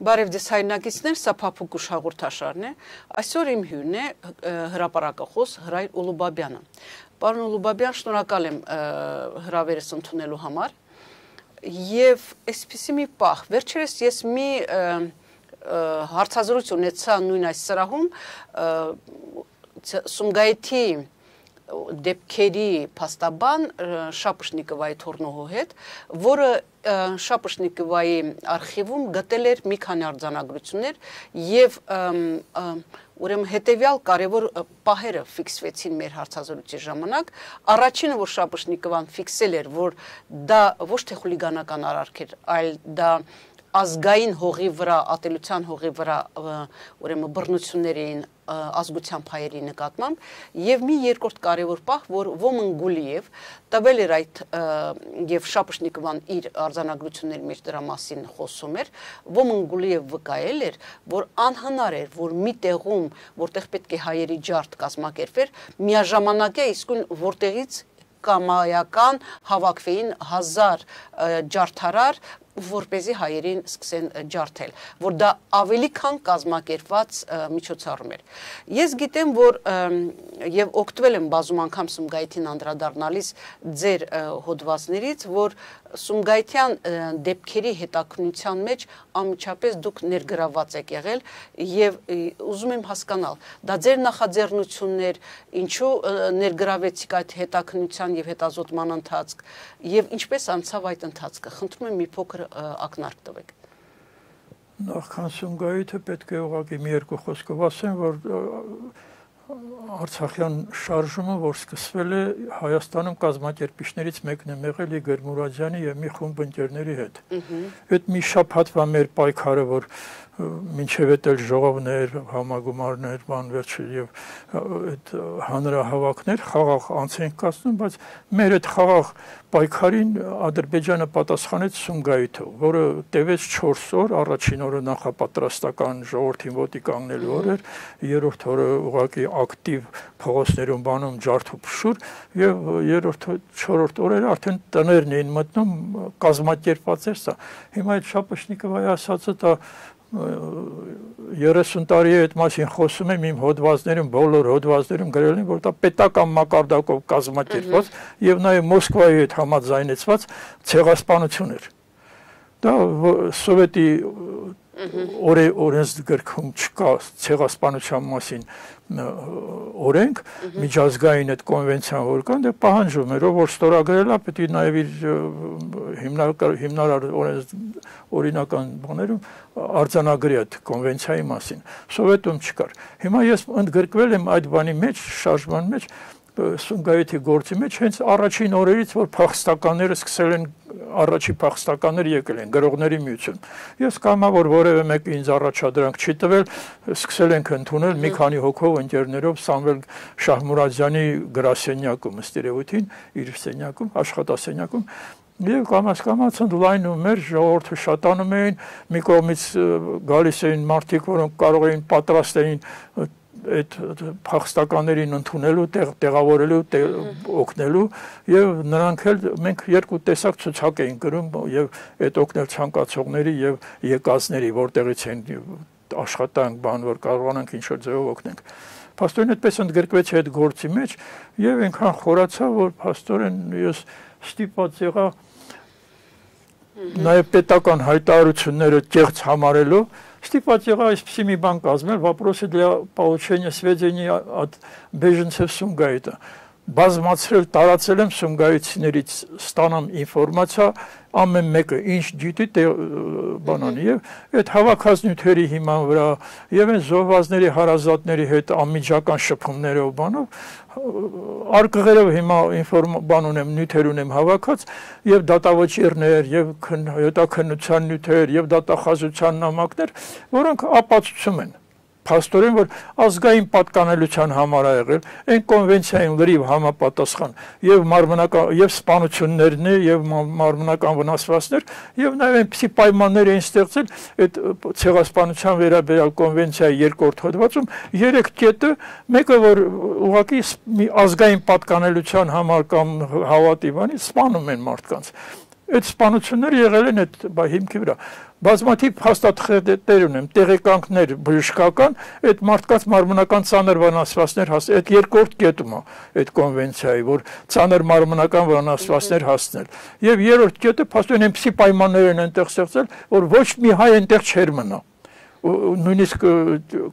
Բարև ձեզ հայրենակիցներ, սա Փափուկ ուշ հաղորդաշարն է։ Այսօր իմ հյուրն է հրապարակախոս Հրայր Ուլուբաբյանը։ Պարոն Ուլուբաբյան, շնորհակալ եմ հրավերս ընդունելու համար։ Եվ այսպիսի մի պահ, վերջերս ես մի հարցազրույց ունեցա նույն այս սրահում Սումգայիթի դեպքերի փաստաբան Շապշնիկովայի թորնողու հետ, որը Շապշնիկովայի արխիվում գտել էր մի քանի արձանագրություններ եւ ուրեմն հետեւյալ կարևոր պահերը ֆիքսվեցին մեր հարցազրույցի ժամանակ։ Առաջինը, որ Շապշնիկովան ֆիքսել էր, որ դա ոչ թե խուլիգանական արարք էր, այլ դա ազգային հողի վրա, ատելության հողի վրա ուրեմն բռնություններ էին ազգության հայերի նկատմամբ եւ մի երկրորդ կարևոր պահ, որ Ոմն Գուլիև տվել էր այդ եւ Շապշնիկովան իր արձանագրությունների մեջ դրա մասին խոսում էր, Ոմն Գուլիև վկայել էր, որ անհնար էր, որ մի տեղում, որտեղ պետք է հայերի ջարդ կազմակերպվեր, միաժամանակ է իսկույն որտեղից կամայական հավաքվեին 1000 ջարդարար, որպեսզի հայերին սկսեն ջարդել, որ դա ավելի քան կազմակերպված միջոցառում էր։ Ես գիտեմ, որ եւ օգտվել եմ բազում անգամ Սումգայիթին անդրադառնալիս ձեր հոդվածներից, որ Սումգայիթյան դեպքերի հետաքննության մեջ անմիջապես դուք ներգրավված եք եղել եւ ուզում եմ հասկանալ, դա ձեր նախաձեռնություններ, ինչու ներգրավեցիք այդ հետաքննության եւ հետազոտման ընթացք եւ ինչպես անցավ այդ ընթացքը։ Խնդրում եմ մի փոքր ակնարկ տվեք։ Նախքան Սումգայիթը պետք է ուղղակի մի երկու խոսքով ասեմ, որ Արցախյան շարժումը, որ սկսվել է Հայաստանում կազմակերպիչներից մեկն է եղել Իգոր Մուրադյանի եւ մի խումբ ընկերների հետ։ Այդ մի շաբաթվա մեր պայքարը, որ մինչև էլ ժողովներ, համագումարներ, բան վերջը եւ այդ հանրահավաքներ խաղաղ անց են կացնում, բայց մեր այդ խաղաղ պայքարին Ադրբեջանը պատասխանեց Սումգայիթով, որը տևեց 4 օր, առաջին օրը նախապատրաստական ժողովրդին ոտի կանգնելու օր էր, երրորդ օրը ուղղակի ակտիվ փողոցներում բանում ջարդ ու փշուր եւ չորրորդ օրերը արդեն տներն էին մտնում կազմակերպված էր սա։ Հիմա այդ Շապշնիկովայի ասածը դա 30 տարի է այդ մասին խոսում եմ իմ հոդվածներում, բոլոր հոդվածներում գրել եմ, որ դա պետական մակարդակով կազմակերպված եւ նաեւ Մոսկվայի հետ համաձայնեցված ցեղասպանություն էր։ Դա սովետի օրենսգրքում չկա ցեղասպանության մասին օրենք, միջազգային այդ կոնվենցիան որ կան, դե պահանջում էր, ով որ ստորագրել է, պետք է նաև իր հիմնարար օրինական բաներում արձանագրի այդ կոնվենցիայի մասին։ Սովետում չկար։ Հիմա ես ընդգրկվել եմ այդ բանի մեջ, շարժման մեջ, Սումգայիթի գործի մեջ հենց առաջին օրերից, որ փախստականները սկսել են, առաջի փախստականները եկել են գրողների միություն։ Ես կամա, որ որևէ մեկը ինձ առաջադրանք չի տվել, սկսել ենք ընդունել մի քանի հոգով ընկերներով Սամվել Շահմուրադյանի գրասենյակում, ըստ երևույթին, իր սենյակում, աշխատասենյակում։ Եվ կամաց ընդլայնում էր, ժողովուրդը շատանում էին, մի կողմից գալիս էին մարդիկ, որոնք կարող էին պատրաստ էին այդ փախստականներին ընդունելու, տեղավորելու, օգնելու եւ նրանք էլ մենք երկու տեսակ ցուցակ էին գրում եւ այդ օգնել ցանկացողների եւ եկածների, որտեղից են աշխատանք, բան որ կարողանանք ինչ որ ձեւով օգնենք։ Փաստորեն այդպես ընդգրկվեց այդ գործի մեջ եւ այնքան խորացա, որ փաստորեն ես ստիպված եղա նաեւ պետական հայտարարությունները կեղծ համարելով стипать եղա այսպեսի մի բան կազմել, вопросы для получения сведений от беженцев Сумгайита։ Բազմացրել, տարածել եմ Սումգայիցիներից ստանամ ինֆորմացիա, ամեն մեկը ինչ գիտի բանանի եւ այդ հավաքած նյութերի հիման վրա եւ այն զոհվածների հարազատների հետ անմիջական շփումներով բանով արկղերով հիմա բան ունեմ, նյութեր ունեմ հավաքած եւ դատավճիռներ եւ հետաքննության նյութեր եւ դատախազության նամակներ, որոնք ապացուցում են Փաստորեն, որ ազգային պատկանելության համար ա եղել, այն կոնվենցիային լրիվ համապատասխան եւ մարմնական եւ սպանություններն եւ մարմնական վնասվածքներ եւ նաեւ այնպիսի պայմաններ էին ստեղծել այդ ցեղասպանության վերաբերյալ կոնվենցիայի երկրորդ հոդվածում 3 կետը, մեկը որ ուղղակի ազգային պատկանելության համար կամ հավատի բանի սպանում են մարդկանց Այդ սպանությունները եղել են այդ հիմքի վրա։ Բազմաթիվ փաստաթղթեր ունեմ, տեղեկանքներ բժշկական, այդ մարդկանց մարմնական ծանր վնասվածքներ հասնել, այդ երկրորդ կետում է այդ կոնվենցիայի, որ ծանր մարմնական վնասվածքներ հասնել։ Եվ երրորդ կետը փաստորեն այնպիսի պայմաններ են այնտեղ ստեղծել, որ ոչ մի հայ այնտեղ չէր մնա։ Նույնիսկ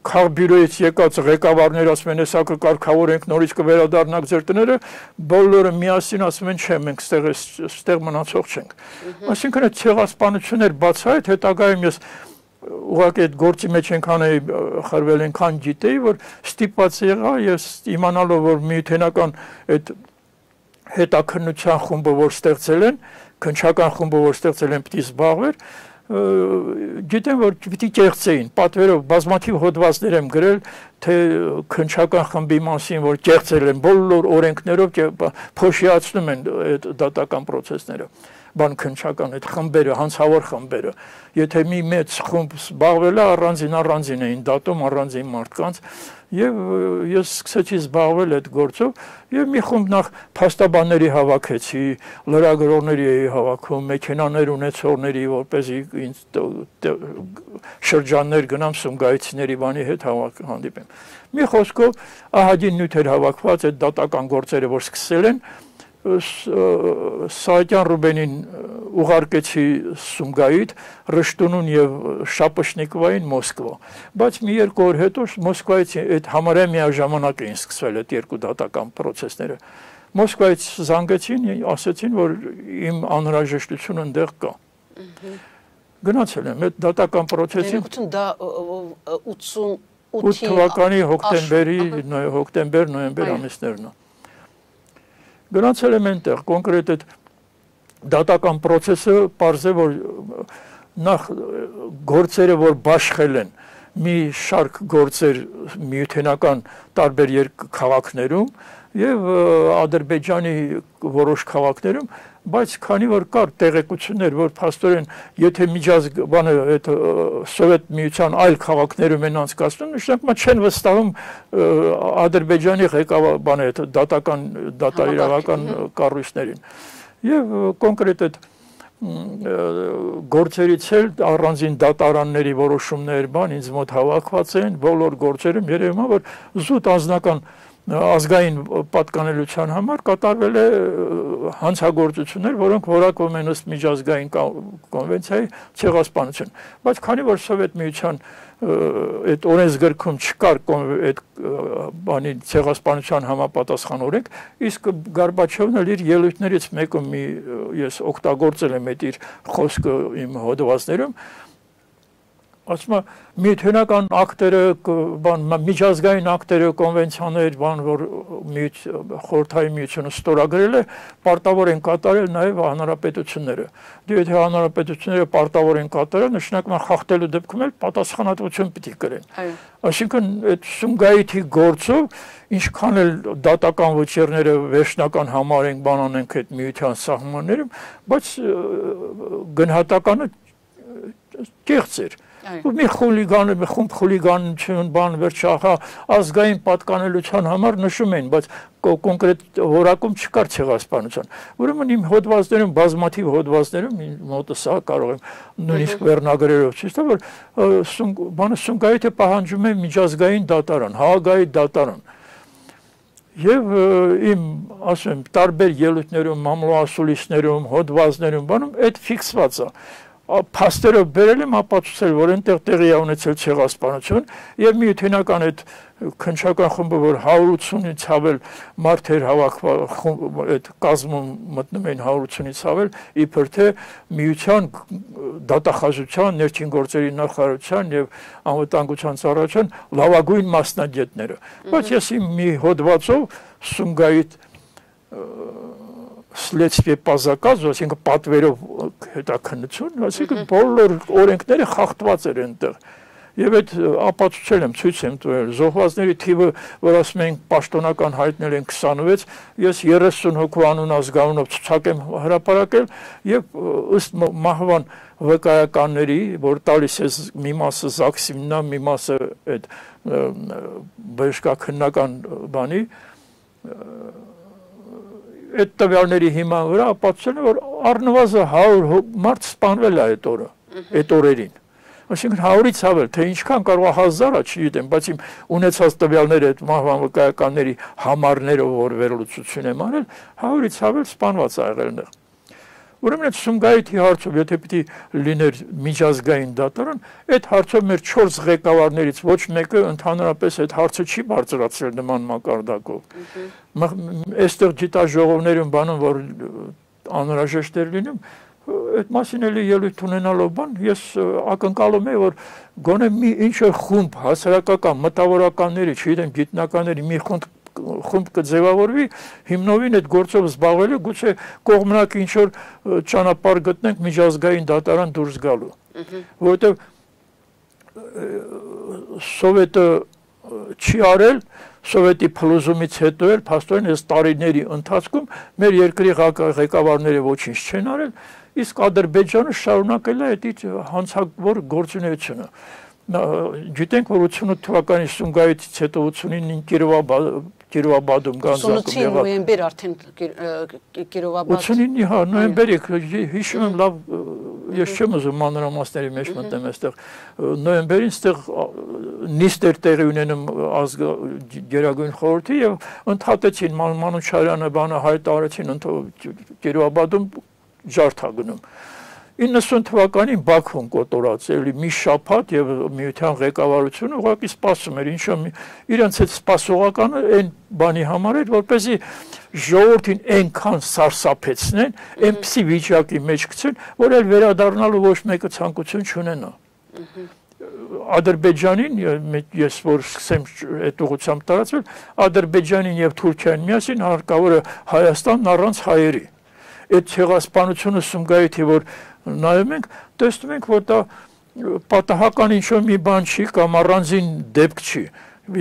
քաղբյուրոյից եկած ղեկավարները ասում են, հեսա կկարգավորենք, նորից կվերադառնանք ձեր տները, բոլորը միասին ասում են, չէ, մենք ստեղ մնացող չենք։ Այսինքն այդ ցեղասպանություններ բացահայտ հետագայում ես ուղղակի այդ գործի մեջ այնքան խրվել այնքան գիտեի, որ ստիպված եղա ես իմանալով, որ միութենական այդ հետաքննության խումբը, որ ստեղծել են, քննչական խումբը, որ ստեղծել են, պիտի զբաղվեր, գիտեմ, որ պիտի կեղծեին, պատվերով բազմաթիվ հոդվածներ եմ գրել, թե քննչական խմբի մասին, որ կեղծել են բոլոր օրենքներով փոշիացնում են այդ դատական process-ները, բան քննչական այդ խմբերը, հանցավոր խմբերը, եթե մի մեծ խումբ զբաղվել է, առանձին էին դատում առանձին մարդկանց, եւ ես սկսեցի զբաղվել այդ գործով եւ մի խումբ նախ փաստաբանների հավաքեցի, լրագրողների էի հավաքում, մեքենաներ ունեցողների, որպեսզի ինձ շրջաններ գնամ Սումգայիցիների բանի հետ հանդիպեմ։ Մի խոսքով ահագին նյութեր հավաքված այդ դատական գործերը, որ սկսել են, Սահակյան Ռուբենին ուղարկեցի Սումգայիթ, Ռշտունուն եւ Շապշնիկովային Մոսկվա, բայց մի երկու օր հետո Մոսկվայից այդ համարյա միաժամանակ էին սկսվել այդ երկու դատական process-ները։ Մոսկվայից զանգեցին, ասեցին, որ իմ անհրաժեշտությունը այնտեղ կա։ Գնացել եմ այդ դատական process-ին։ Դա 88 թվականի հոկտեմբեր-նոյեմբեր ամիսներն է։ Գնացել եմ այնտեղ, կոնկրետ այդ դատական process-ը պարզ է, որ նախ գործերը, որ բաշխել են, մի շարք գործեր միութենական տարբեր քաղաքներում եւ Ադրբեջանի որոշ քաղաքներում, բայց քանի որ կար տեղեկություններ, որ փաստորեն եթե միջազգային այդ սովետ միության այլ քաղաքներում են անցկացնում, նշանակում չեն վստահում Ադրբեջանի ղեկավարի այդ դատաիրավական կառույցներին։ Եվ կոնկրետ այդ գործերից էլ առանձին դատարանների որոշումներ բան ինձ մոտ հավաքված են, բոլոր գործերում երևում է, որ զուտ անձնական ազգային պատկանելության համար կատարվել է հանցագործություններ, որոնք որակվում են ըստ միջազգային կոնվենցիայի ցեղասպանություն։ Բայց քանի որ Սովետ միության այդ օրենսգրքում չկար այդ բանի ցեղասպանության համապատասխան օրենք, իսկ Գորբաչովն էլ իր ելույթներից մեկում ես օգտագործել եմ այդ իր խոսքը իմ հոդվածներում, ասում է միութենական ակտերը, միջազգային ակտերը, կոնվենցիաներ, բան, որ խորհրդային միությունը ստորագրել է, պարտավոր են կատարել նաև հանրապետությունները։ Դու եթե հանրապետությունները պարտավոր են կատարել, նշանակում է խախտելու դեպքում էլ պատասխանատվություն պիտի կրեն։ Այսինքն այդ Սումգայիթի գործով ինչքան էլ դատական վճիռները վերջնական համարենք, բան անենք այդ միության սահմաններում, բայց գնահատականը կեղծ էր։ Մի խումբ խուլիգանություն, բան վերջախա ազգային պատկանելության համար նշում են, բայց կոնկրետ որակում չկար ցեղասպանության։ Ուրեմն իմ հոդվածներում, բազմաթիվ հոդվածներում, մոտս սա կարող եմ նույնիսկ վերնագրերով ցույց տալ, որ Սումգայիթը պահանջում է միջազգային դատարան, Հաագայի դատարան։ Եվ իմ, ասում եմ, տարբեր ելույթներում, մամլոասուլիսներում, հոդվածներում, բանում այդ ֆիքսված է։ Փաստերով բերել եմ ապացուցել, որ այնտեղ տեղի է ունեցել ցեղասպանություն եւ միութենական այդ քննչական խումբը, որ 180-ից ավել մարդեր հավաքված այդ կազմում մտնում են 180-ից ավել, իբր թե միության դատախազության, ներքին գործերի նախարարության եւ անվտանգության ծառայության լավագույն մասնագետները։ Բայց ես իմ մի հոդվածով Սումգայիթ Следствие по заказу, այսինքն պատվերով հետաքննություն, այսինքն բոլոր օրենքները խախտված էր այնտեղ։ Եվ այդ ապացուցել եմ, ցույց եմ տվել, զոհվածների թիվը, որ ասում են պաշտոնական հայտնել են 26, ես 30 հոգու անուն ազգանունով ցուցակ եմ հրապարակել եւ ըստ մահվան վկայականների, որ տալիս է մի մասը ԶԱԳՍ-ին, մի մասը այդ բժշկաքննական բանի այդ տվյալների հիման վրա ապացուցել է, որ առնվազն 100 մարդ սպանվել է այդ օրը, այդ օրերին։ Այսինքն 100-ից ավել, թե ինչքան կարող է 1000-ը, չգիտեմ, բայց իմ ունեցած տվյալները այդ մահվան վկայականների համարներով որ վերլուծություն եմ արել, 100-ից ավել սպանված ա եղել այնտեղ։ Ուրեմն այդ Սումգայիթի հարցով, եթե պիտի լիներ միջազգային դատարան, այդ հարցով մեր 4 ղեկավարներից ոչ մեկը ընդհանրապես այդ հարցը չի բարձրացրել նման մակարդակով։ Այստեղ գիտաժողովներում բանում, որ անհրաժեշտ էր լինում, այդ մասին էլի ելույթ ունենալով բան, ես ակնկալում եմ, որ գոնե մի ինչ-որ խումբ հասարակական մտավորականների, չգիտեմ, գիտնականների մի խումբ կձևավորվի, հիմնովին այդ գործով զբաղվելու, գուցե կողմնակի ինչ-որ ճանապարհ գտնենք միջազգային դատարան դուրս գալու։ Որովհետև Սովետը չի արել, Սովետի փլուզումից հետո էլ փաստորեն այս տարիների ընթացքում մեր երկրի ղեկավարները ոչինչ չեն արել, իսկ Ադրբեջանը շարունակել է այդ հանցավոր գործունեությունը։ Գիտենք, որ 88 թվականի Սումգայիթից հետո 89-ին Կիրովաբադում գանձակում եղավ։ 89 նոյեմբեր արդեն Կիրովաբադ։ 89-ի, հա, նոյեմբերի, հիշում եմ լավ, ես չեմ ուզում մանրամասների մեջ մտնեմ այստեղ։ Նոյեմբերին այստեղ նիստ էր տեղի ունենում Գերագույն խորհրդի եւ ընդհատեցին Մանուչարյանը բանը հայտարարեցին Կիրովաբադում ջարդ գնում։ 90 թվականին Բաքվում կոտորած էլի մի շաբաթ եւ միության ղեկավարությունը ուղղակի սպասում էր, ինչո՞ իրենց այդ սպասողականը այն բանի համար էր, որպեսզի ժողովրդին այնքան սարսափեցնեն, այնպիսի վիճակի մեջ գցեն, որ էլ վերադառնալու ոչ մեկը ցանկություն չունենա։ Ադրբեջանին, ես որ սկսեմ այդ ուղղությամբ տարածվել, Ադրբեջանին եւ Թուրքիային միասին հարկավոր է Հայաստանն առանց հայերի։ Այդ ցեղասպանությունը Սումգայիթի, որ նայում ենք, տեսնում ենք, որ դա պատահական ինչ-որ մի բան չի կամ առանձին դեպք չի։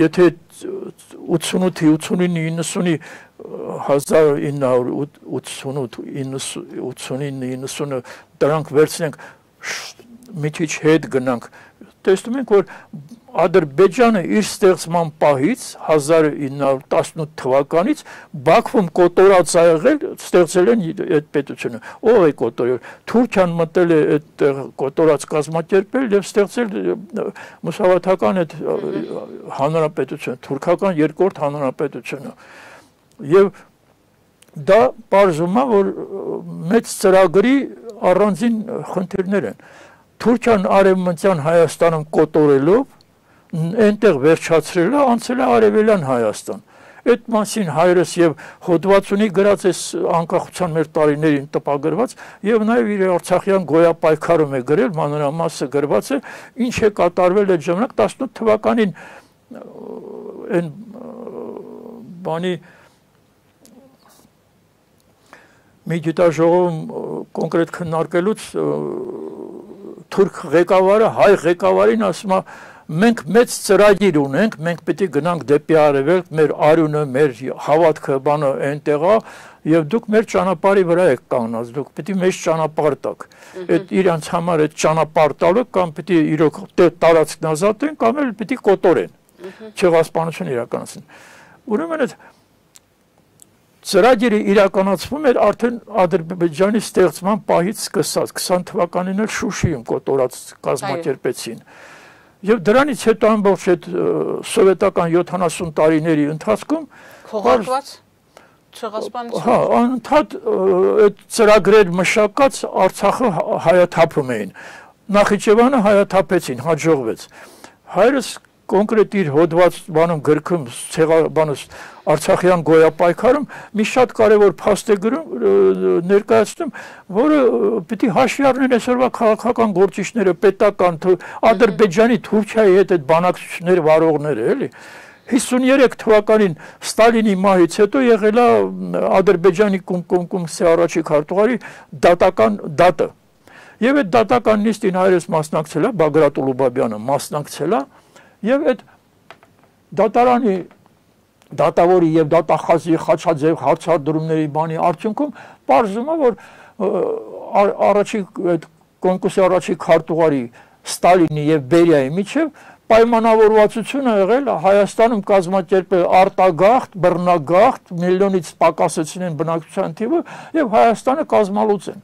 Եթե 88-ի, 89-ի, 90-ի 1988-89-90 դրանք վերցնենք մի քիչ հետ գնանք, տեսնում ենք, որ Ադրբեջանը իր ստեղծման պահից 1918 թվականից Բաքվում կոտորած ա եղել, ստեղծել են այդ պետությունը։ Ով է կոտորել։ Թուրքիան մտել է այդ կոտորած կազմակերպել եւ ստեղծել մուսավաթական այդ հանրապետությունը, թուրքական երկրորդ հանրապետությունը։ Եվ դա բարձում է, որ մեծ ծրագրի առանձին խնդիրներ են։ Թուրքիան արևմտյան Հայաստանում կոտորելով այնտեղ վերջացրել է, անցել է Արևելյան Հայաստան։ Այդ մասին հայրս եւ հոդվածունի գրած է անկախության մեր տարիներին տպագրված եւ նաեւ իր Արցախյան գոյապայքարում է գրել, մանրամասը գրված է, ինչ է կատարվել այդ ժամանակ 18 թվականին այն բանի մի գիտաժողովում կոնկրետ քննարկելուց թուրք ղեկավարը հայ ղեկավարին ասում է մենք մեծ ծրագիր ունենք, մենք պետք է գնանք դեպի արևելք, մեր արյունը, մեր հավատքը բանը այնտեղ է եւ դուք մեր ճանապարհի վրա եք կանգնած, դուք պետք է մեծ ճանապարհ տաք։ Այդ իրանց համար այդ ճանապարհ տալը կամ պետք է իրոք տարածքն ազատեն կամ էլ պետք է կոտորեն։ Ցեղասպանություն իրականացնեն։ Ուրեմն այդ ծրագիրը իրականացվում էր արդեն Ադրբեջանի ստեղծման պահից սկսած 20 թվականին էլ Շուշիում կոտորած կազմակերպեցին։ Եվ դրանից հետո ամբողջ այդ սովետական 70 տարիների ընթացքում քողարկված ցեղասպանություն։ Հա, անընդհատ այդ ծրագրեր մշակած Արցախը հայաթափում էին։ Նախիջևանը հայաթափեցին, հաջողվեց։ Հայրս կոնկրետ իր հոդված բանում գրքում ցեղաբանոց Արցախյան գոյապայքարում մի շատ կարևոր փաստ է գրում ներկայացնում, որը պիտի հաշվի առնեն այսօրվա քաղաքական գործիչները, պետական, Ադրբեջանի, Թուրքիայի հետ այդ բանակցություններ վարողները, էլի։ 53 թվականին Ստալինի մահից հետո եղել է Ադրբեջանի կոմկոմսի առաջի քարտուղարի դատական դատը։ Եվ այդ դատական նիստին հայրս մասնակցել է, Բագրատ Ուլուբաբյանը մասնակցել է, եւ այդ դատարանի դատավորի եւ դատախազի խաչաձև հարցադրումների բանի արդյունքում պարզվում է, որ առաջի այդ կոնկուրսի առաջի քարտուղարի Ստալինի եւ Բերիայի միջև պայմանավորվածությունը եղել Հայաստանում կազմակերպել արտագաղթ, բռնագաղթ, միլիոնից պակասեցնեն բնակչության թիվը եւ Հայաստանը կազմալուծեն։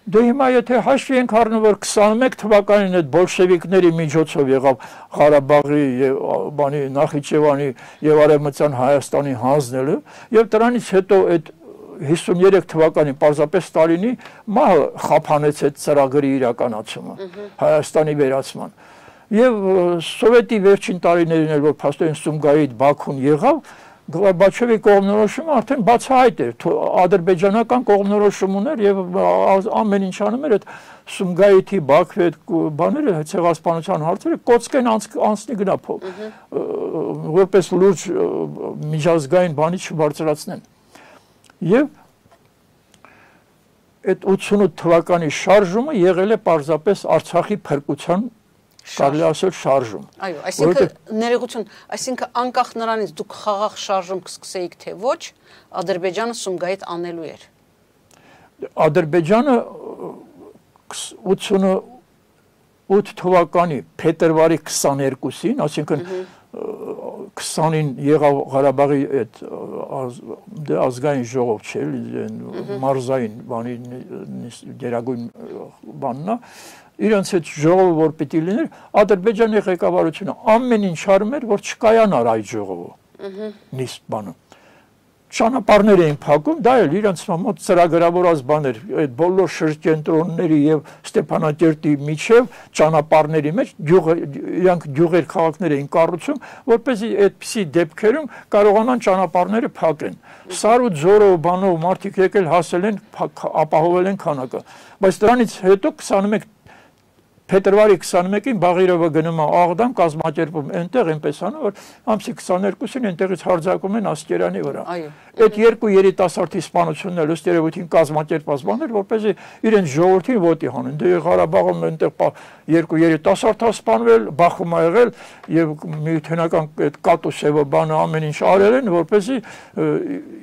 Դե հիմա եթե հաշվի ենք առնում, որ 21 թվականին այդ բոլշևիկների միջոցով եղավ Ղարաբաղի եւ բանի Նախիջևանի եւ Արևմտյան Հայաստանի հանձնելը եւ դրանից հետո այդ 53 թվականին պարզապես Ստալինի մահը խափանեց այդ ծրագրի իրականացումը Հայաստանի վերացման եւ սովետի վերջին տարիներին էլ որ փաստորեն Սումգայիթ Բաքուն եղավ Գորբաչովի կողմնորոշումը արդեն բացահայտ էր ադրբեջանական կողմնորոշում ուներ եւ ամեն ինչ անում էր այդ Սումգայիթի Բաքվի այդ բաները ցեղասպանության հարցերը կոծկեն անցնի գնա որպես լուրջ միջազգային բանի չբարձրացնեն եւ այդ 88 թվականի շարժումը եղել է պարզապես Արցախի փրկության կարելի ասել շարժում։ Այո, այսինքն ներողություն, այսինքն անկախ նրանից դուք խաղաղ շարժում կսկսեիք թե ոչ, Ադրբեջանը Սումգայիթ անելու էր։ Ադրբեջանը 88 թվականի փետրվարի 22-ին, այսինքն 20-ին եղավ Ղարաբաղի այդ ազգային ժողով չէ, մարզային բանի գերագույն բանն է, իրենց այդ ժողովը որ պիտի լիներ, Ադրբեջանի ղեկավարությունը ամեն ինչ արում էր, որ չկայանար այդ ժողովը։ Նիստ բանը։ Ճանապարհներ էին փակում, դա էլ իրենց մոտ ծրագրավորած բաներ, այդ բոլոր շրջենտրոնների եւ Ստեփանակերտի միջև ճանապարհների մեջ իրանք գյուղեր քաղաքներ էին կառուցում, որպեսզի այդպիսի դեպքերում կարողանան ճանապարհները փակեն։ Սար ու ձորով բանով մարդիկ եկել հասել են, ապահովել են քանակը, բայց դրանից հետո 21 Փետրվարի 21-ին Բաղիրովը գնում է Աղդամ կազմակերպում այնտեղ այնպես անում որ ամսի 22-ին այնտեղից հարձակում են Ասկերանի վրա։ Այդ երկու երիտասարդի սպանությունն էլ ըստ երևույթին կազմակերպված բաներ, որպեսզի իրենց ժողովրդին ոտի հանեն։ Դե Ղարաբաղում այնտեղ երկու երիտասարդ սպանվել, Բախում ա եղել եւ միութենական այդ կատուսեվը բանը ամեն ինչ արել են, որպեսզի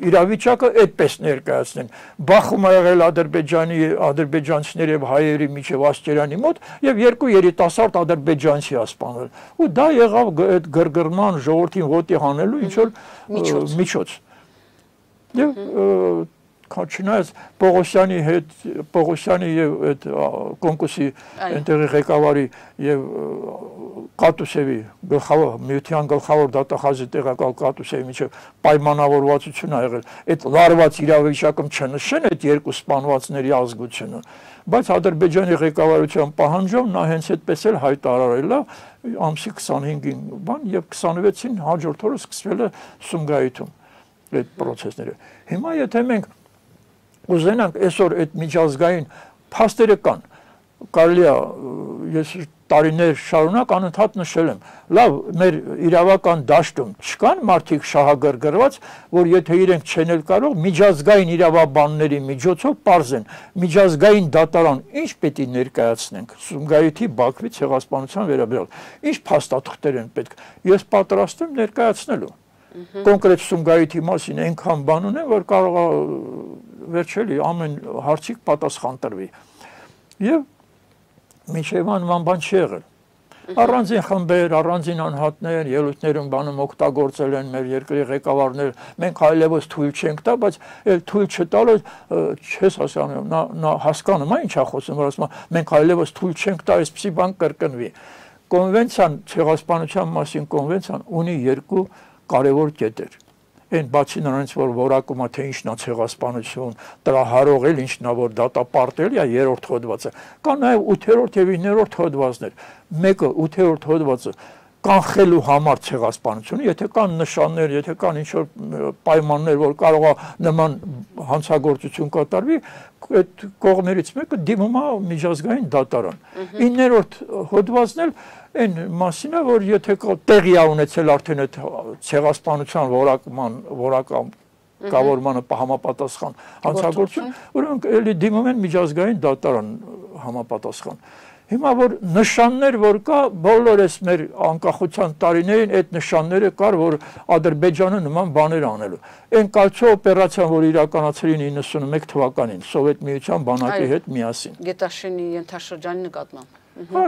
իրավիճակը այդպես ներկայացնեն։ Բախում ա եղել ադրբեջանցիների եւ հայերի միջև Ասկերանի մոտ եւ երկու երիտասարդ ադրբեջանցի սպանել։ Ու դա եղավ այդ գրգռման ժողովրդին ոտի հանելու ինչ որ միջոց։ Եվ չնայած Պողոսյանի հետ Պողոսյանի եւ այդ կոնկուրսի այնտեղի ղեկավարի եւ Կատուսևի գլխավոր միության գլխավոր դատախազի տեղակալ Կատուսևի միջև պայմանավորվածություն ա եղել այդ լարված իրավիճակում չնշեն այդ երկու սպանվածների ազգությունը բայց Ադրբեջանի ղեկավարության պահանջով նա հենց այդպես էլ հայտարարել է ամսի 25-ին բան եւ 26-ին հաջորդ օրը սկսվել է Սումգայիթում այդ process-ները հիմա եթե մենք ուզենանք այսօր այդ միջազգային փաստերը կան կարելի է ես տարիներ շարունակ անընդհատ նշել եմ լավ մեր իրավական դաշտում չկան մարդիկ շահագրգռված որ եթե իրենք չեն էլ կարող միջազգային իրավաբանների միջոցով պարզեն միջազգային դատարան ինչ պետք է ներկայացնենք Սումգայիթի Բաքվի ցեղասպանության վերաբերյալ ինչ փաստաթղթեր են պետք ես պատրաստ եմ ներկայացնելու կոնկրետ Սումգայիթի մասին այնքան բան ունեմ որ կարող է վերջելի ամեն հարցի պատասխան տրվի եւ մինչև անման բան չի եղել առանձին խմբեր առանձին անհատներ ելույթներում բանում օգտագործել են մեր երկրի ղեկավարներ մենք այլևս թույլ չենք տա բայց այլ թույլ չտալը չես հասկանում նա հասկանում է ինչա խոսում որ ասում մենք այլևս թույլ չենք տա այսպիսի բան կրկնվի կոնվենցիան ցեղասպանության մասին կոնվենցիան ունի երկու կարևոր կետեր Այն բացի նրանից որ որակում է թե ինչն է ցեղասպանություն, տրահարող էլ ինչն է որ դատապարտել է երրորդ հոդվածը։ Կա նաև 8-րդ եւ 9-րդ հոդվածներ։ Մեկը 8-րդ հոդվածը կանխելու համար ցեղասպանությունը, եթե կան նշաններ, եթե կան ինչ-որ պայմաններ, որ կարող է նման հանցագործություն կատարվի, այդ կողմերից մեկը դիմում է միջազգային դատարան։ 9-րդ հոդվածն էլ Այն մասին է, որ եթե տեղի է ունեցել արդեն այդ ցեղասպանության որակավորմանը համապատասխան հանցագործություն, որոնք էլի դիմում են միջազգային դատարան համապատասխան։ Հիմա որ նշաններ որ կա, բոլորս մեր անկախության տարիներին այդ նշանները կար, որ Ադրբեջանը նման բաներ անելու։ Այն կալցո օպերացիան, որ իրականացրին 91 թվականին Սովետ միության բանակի հետ միասին։ Գետաշենի ենթաշրջանի նկատմամբ։ Հա,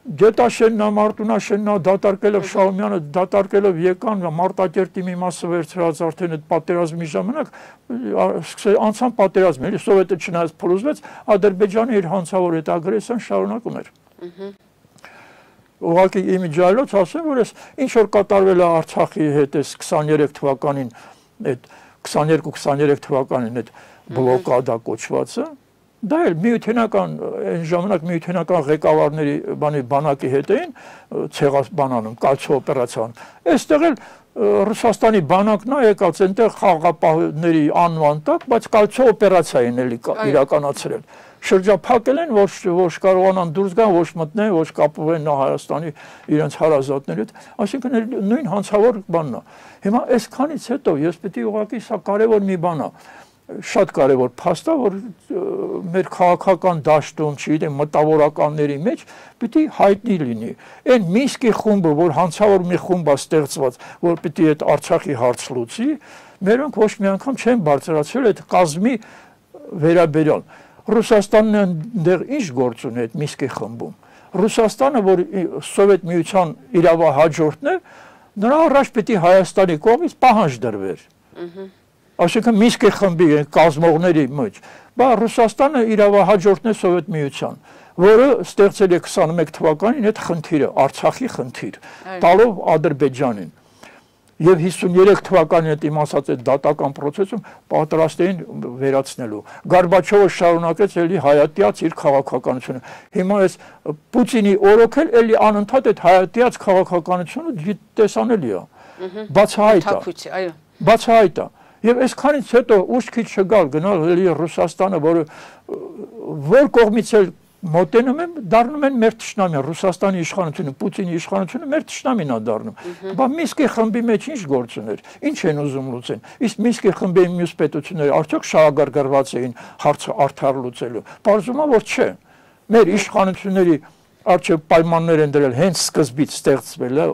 Գետաշեննա, Մարտունաշեննա դատարկելով Շահումյանը, դատարկելով եկան Մարտակերտի մի մասը վերցրած արդեն այդ պատերազմի ժամանակ անցան պատերազմը, էլի սովետը չնայած փլուզվեց, Ադրբեջանը իր հանցավոր այդ ագրեսիան շարունակում էր։ Ուղղակի իմիջիալոց ասեմ, որ այս ինչ որ կատարվել է Արցախի հետ այս 23 թվականին, այդ 22-23 թվականին այդ բլոկադա կոչվածը, դա էլ միութենական այն ժամանակ միութենական ղեկավարների բանակի հետ էին ցեղասպանանում, կալցո օպերացիան։ Այստեղ էլ Ռուսաստանի բանակն է եկած այնտեղ խաղաղապահների անվան տակ, բայց կալցո օպերացիա են էլի իրականացրել։ Շրջափակել են, ոչ կարողանան դուրս գան, ոչ մտնեն, ոչ կապվեն Հայաստանի իրենց հարազատների հետ, այսինքն նույն հանցավոր բանն է։ Հիմա այսքանից հետո ես պետք է ուղղակի սա կարևոր մի բան է, շատ կարևոր փաստ է, որ մեր քաղաքական դաշտում, չգիտեմ, մտավորականների մեջ պիտի հայտնի լինի։ Այն Մինսկի խումբը, որ հանցավոր մի խումբ է ստեղծված, որ պիտի այդ Արցախի հարց լուծի, մերոնք ոչ մի անգամ չեն բարձրացրել այդ կազմի վերաբերյալ։ Ռուսաստանն այնտեղ ինչ գործ ունի այդ Մինսկի խմբում։ Ռուսաստանը, որ Սովետ միության իրավահաջորդն է, նրա առաջ պիտի Հայաստանի կողմից պահանջ դրվեր։ Այսինքն Մինսկի խմբի կազմողների մեջ, բայց Ռուսաստանը իրավահաջորդն է Սովետ միության, որը ստեղծել է 21 թվականին այդ խնդիրը, Արցախի խնդիր, տալով Ադրբեջանին։ Եվ 53 թվականին այդ իմ ասած այդ դատական process-ում պատրաստ էին վերացնելու։ Գորբաչովը շարունակեց էլի հայատյաց իր քաղաքականությունը։ Հիմա այս Պուտինի օրոքել էլի անընդհատ այդ հայատյաց քաղաքականությունը տեսանելի է։ Բացահայտ է։ Բացահայտ է։ Եվ այսքանից հետո ուշքի չգալ գնալ էլի Ռուսաստանը, որը որ կողմից էլ մոտենում եմ, դառնում են մեր թշնամին, Ռուսաստանի իշխանությունը, Պուտինի իշխանությունը մեր թշնամին է դառնում։ Բա Մինսկի խմբի մեջ ինչ գործ ուներ, ինչ են ուզում լուծեն։ Իսկ Մինսկի խմբի մյուս պետությունները արդյոք շահագրգռված էին հարցը արդար լուծելու։ Պարզվում է, որ չէ։ Մեր իշխանությունների արժեք պայմաններ են դրել հենց սկզբից ստեղծվել է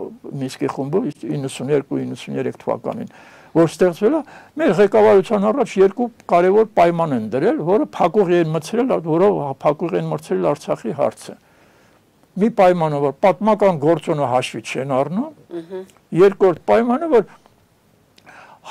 Մինսկի խումբը 92-93 թվականին, որ ստեղծվել է, մեր ղեկավարության առաջ երկու կարևոր պայման են դրել, որը փակուղի են մցրել, որով փակուղի են մցրել Արցախի հարցը։ Մի պայմանը, որ պատմական գործոնը հաշվի չեն առնում, երկրորդ պայմանը, որ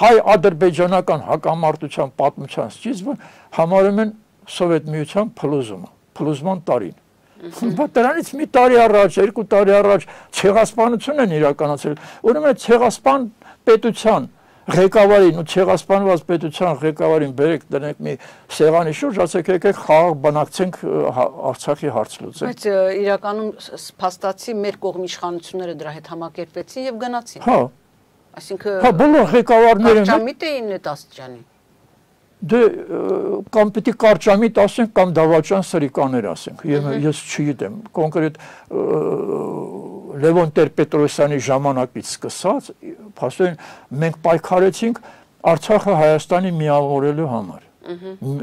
հայ-ադրբեջանական հակամարտության պատմության սկիզբը համարում են Սովետ միության փլուզումը, փլուզման տարին։ Բայց դրանից մի տարի առաջ, 2 տարի առաջ ցեղասպանություն են իրականացրել, ուրեմն ցեղասպան պետության ղեկավարին ու ցեղասպանված պետության ղեկավարին բերեք դնենք մի սեղանի շուրջ, ասեք եկեք խաղաղ բանակցենք Արցախի հարց լուծենք։ Բայց իրականում փաստացի մեր կողմի իշխանությունները դրա հետ համակերպեցին եւ գնացին։ Հա։ Այսինքն հա բոլոր ղեկավարները կարճամիտ էին այդ աստիճանի։ Դե կամ պիտի կարճամիտ ասենք կամ դավաճան սրիկաներ ասենք։ Ես չգիտեմ, կոնկրետ Լևոն Տեր-Պետրոսյանի ժամանակից սկսած, փաստորեն մենք պայքարեցինք Արցախը Հայաստանի միավորելու համար,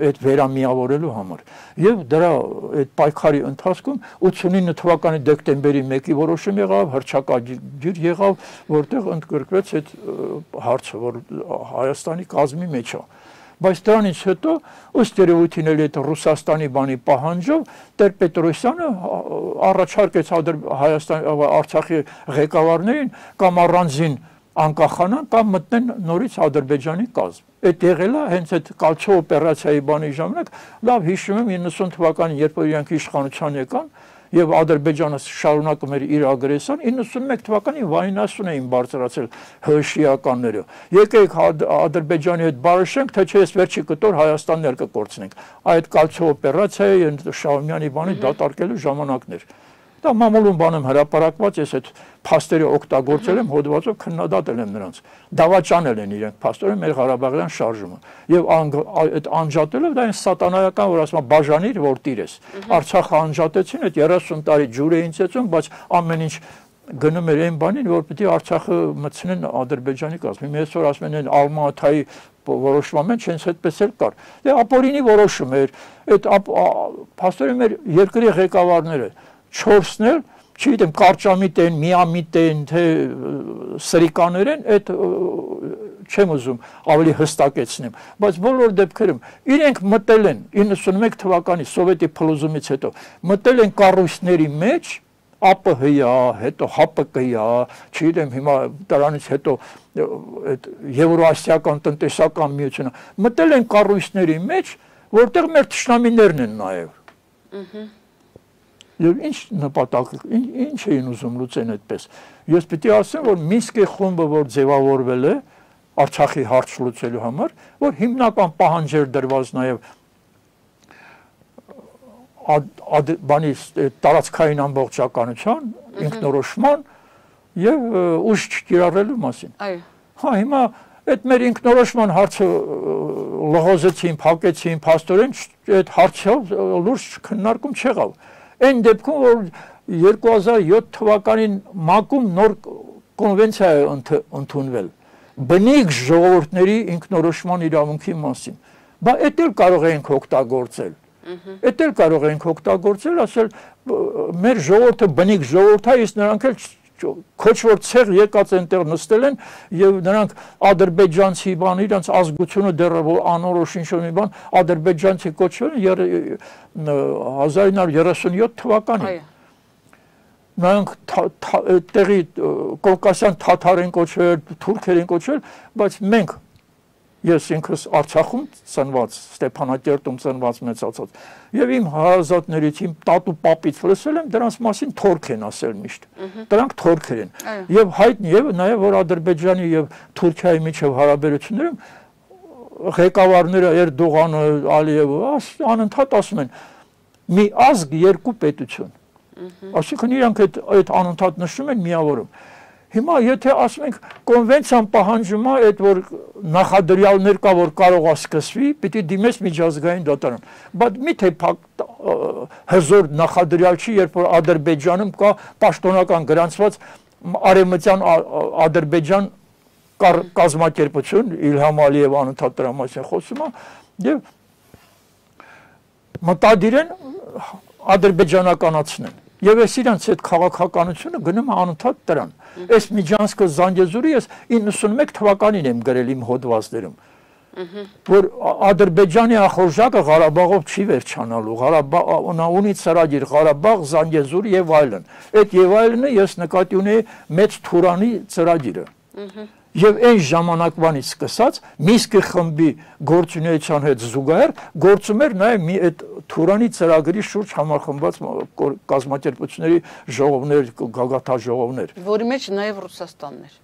այդ վերամիավորելու համար։ Եվ դրա այդ պայքարի ընթացքում 89 թվականի դեկտեմբերի 1-ի որոշում եղավ, հռչակագիր եղավ, որտեղ ընդգրկվեց այդ հարցը, որ Հայաստանի կազմի մեջ է։ Բայց դրանից հետո ըստ երևույթին էլ այդ Ռուսաստանի բանի պահանջով Տեր-Պետրոսյանը առաջարկեց Արցախի ղեկավարներին կամ առանձին անկախանան կամ մտնեն նորից Ադրբեջանի կազմ։ Այդ եղել է հենց այդ կալցո օպերացիայի բանի ժամանակ, լավ հիշում եմ 90 թվականին, երբ որ իրանք իշխանության եկան, եւ Ադրբեջանը շարունակում էր իր ագրեսիան, 91 թվականին վայնասուն էին բարձրացել հրշիականները։ Եկեք Ադրբեջանի հետ բարեշենք, թե չէ ես վերջի կտոր Հայաստանն կկորցնենք։ Այդ կալցո օպերացիայի Շահումյանի բանի դատարկելու ժամանակն էր։ Դա մամուլում բանեմ հրապարակված, ես այդ փաստերը օգտագործել եմ, հոդվածով քննադատել եմ նրանց։ Դավաճանել են իրենք փաստորեն մեր Ղարաբաղյան շարժումը։ Եվ այդ անջատելով դա այն սատանայական, որ ասում է բաժանիր, որ տիրես։ Արցախը անջատեցին, այդ 30 տարի ջուր էին ծեծում, բայց ամեն ինչ գնում էր այն բանին, որ պիտի Արցախը մտցնեն Ադրբեջանի կազմին։ Այսօր ասում են Ալմատայի որոշման մեջ հենց այդպես էլ կար։ Դե ապօրինի որոշում էր, այդ փաստորեն մեր երկրի ղեկավարները 4-ն էլ, չգիտեմ, կարճամիտ են, միամիտ են, թե սրիկաներ են, այդ չեմ ուզում ավելի հստակեցնեմ, բայց բոլոր դեպքերում իրենք մտել են 91 թվականի սովետի փլուզումից հետո, մտել են կառույցների մեջ, ԱՊՀ-ը, հետո ՀԱՊԿ-ը, չգիտեմ հիմա դրանից հետո այդ Եվրոասիական տնտեսական միությունը մտել են կառույցների մեջ, որտեղ մեր թշնամիներն են նաև։ Եվ ինչ նպատակ, ինչ էին ուզում լուծեն այդպես։ Ես պիտի ասեմ, որ Մինսկի խումբը, որ ձևավորվել է Արցախի հարց լուծելու համար, որ հիմնական պահանջ էր դրված նաև բանի տարածքային ամբողջականության, ինքնորոշման եւ ուժ չկիրառելու մասին։ Այո։ Հա, հիմա այդ մեր ինքնորոշման հարցը լողոզեցին, փակեցին, փաստորեն այդ հարցով լուրջ քննարկում չեղավ։ Այն դեպքում, որ 2007 թվականին ՄԱԿ-ում նոր կոնվենցիա է ընդունվել բնիկ ժողովուրդների ինքնորոշման իրավունքի մասին։ Բա էդ էլ կարող ենք օգտագործել։ Էդ էլ կարող ենք օգտագործել, ասել մեր ժողովուրդը բնիկ ժողովուրդ է, իսկ նրանք էլ քոչվոր ցեղ եկած այնտեղ նստել են եւ նրանք ադրբեջանցի բան իրենց ազգությունը դեռ անորոշ ինչ-որ մի բան ադրբեջանցի կոչվել են 1937 թվականին։ Նրանք տեղի կովկասյան թաթար են կոչվել, թուրքեր են կոչվել, բայց մենք ես ինքս Արցախում ծնված, Ստեփանակերտում ծնված մեծացած, եւ իմ հարազատներից, իմ տատու պապից լսել եմ, դրանց մասին թորք են ասել միշտ։ Դրանք թորքեր են։ Եվ հայտնի եւ նաեւ որ Ադրբեջանի եւ Թուրքիայի միջև հարաբերություններում ղեկավարները Էրդողանը, Ալիևը անընդհատ ասում են՝ մի ազգ, երկու պետություն։ Այսինքն իրանք այդ անընդհատ նշում են միավորում։ Հիմա եթե ասում ենք կոնվենցիան պահանջում է այդ որ նախադրյալներ կա որ կարող է սկսվի, պիտի դիմես միջազգային դատարան։ Բայց միթե հզոր նախադրյալ չի, երբ որ Ադրբեջանում կա պաշտոնական գրանցված Արևմտյան Ադրբեջան կազմակերպություն, Իլհամ Ալիև անընդհատ դրա մասին խոսում է, եւ մտադիր են ադրբեջանականացնեն։ Եվ ես իրանց այդ քաղաքականությունը գնում անընդհատ դրան։ Այս Միջանցքը Զանգեզուրի ես 91 թվականին եմ գրել իմ հոդվածներում, որ Ադրբեջանի ախորժակը Ղարաբաղով չի վերջանալու, Ղարաբաղը ունի ծրագիր Ղարաբաղ, Զանգեզուր եւ այլն։ Այդ եւ այլնը ես նկատի ունեի մեծ Թուրանի ծրագիրը։ Եվ այն ժամանակվանից սկսած Մինսկի խմբի գործունեության հետ զուգահեռ գործում էր նաև մի այդ Թուրանի ծրագրի շուրջ համախմբված կազմակերպությունների ժողովներ, գագաթաժողովներ, որի մեջ նաև Ռուսաստանն էր։